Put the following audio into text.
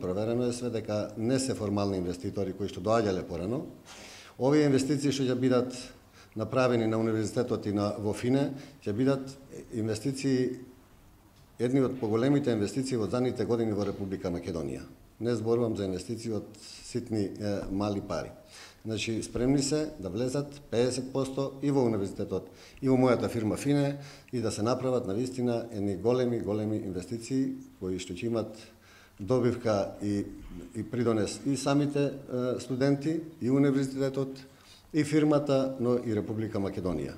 Проверено е све дека не се формални инвеститори кои што доаѓале порано. Овие инвестиции што ќе бидат направени на универзитетот и во ФИНЕ ќе бидат инвестиции, едни од поголемите инвестиции во задните години во Република Македонија. Не зборувам за инвестиции од ситни мали пари. Значи, спремни се да влезат 50% и во универзитетот, и во мојата фирма ФИНЕ, и да се направат навистина едни големи инвестиции кои што ќе имат добивка и придонес и самите студенти, и универзитетот, и фирмата, но и Република Македонија.